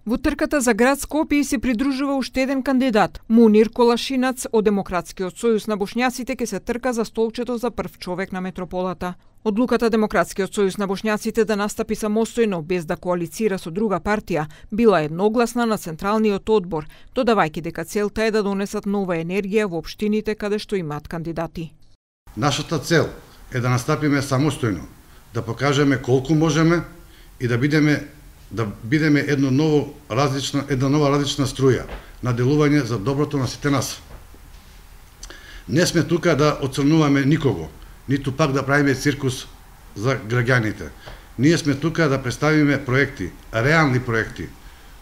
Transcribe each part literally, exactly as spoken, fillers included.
Во трката за град Скопје се придружува уште еден кандидат. Мунир Колашинац од Демократскиот сојуз на бошњаците ке се трка за столчето за прв човек на метрополата. Одлуката Демократскиот сојуз на бошњаците да настапи самостојно без да коалицира со друга партија била едногласна на Централниот одбор, додавајќи дека целта е да донесат нова енергија во општините каде што имаат кандидати. Нашата цел е да настапиме самостојно, да покажеме колку можеме и да бидеме да бидеме едно ново различна една нова различна струја на делување за доброто на сите нас. Не сме тука да оцрнуваме никого, ниту пак да правиме циркус за граѓаните. Ние сме тука да представиме проекти, реални проекти,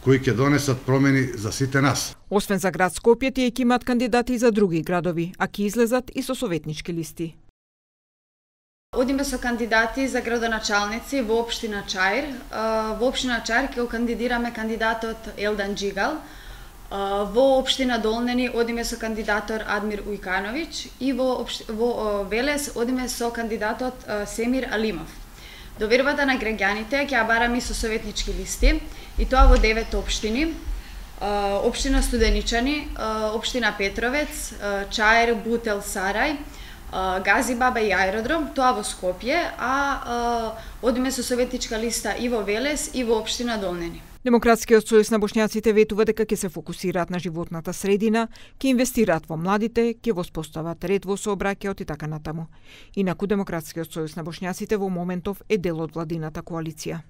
кои ќе донесат промени за сите нас. Освен за град Скопје, тие ќе имаат кандидати за други градови, а ќе излезат и со советнички листи. Одиме со кандидати за градоначалници во општина Чаир. Во општина Чаир ќе го кандидираме кандидатот Елдан Джигал. Во општина Долнени одиме со кандидатор Адмир Ујкановиќ и во, општи... во Велес одиме со кандидатот Семир Алимов. Довербата на граѓаните ќе ја бараме со советнички листи и тоа во девет општини. Општина Студеничани, општина Петровец, Чаир, Бутел, Сарај, Гази Баба и Аеродром, тоа во Скопје, а одиме со советничка листа и во Велес и во општина Долнени. Демократскиот сојуз на бошњаците ветува дека ќе се фокусираат на животната средина, ќе инвестираат во младите, ќе воспостават ред во сообраќајот и така натаму. Инаку Демократскиот сојуз на бошњаците во моментов е дел од владината коалиција.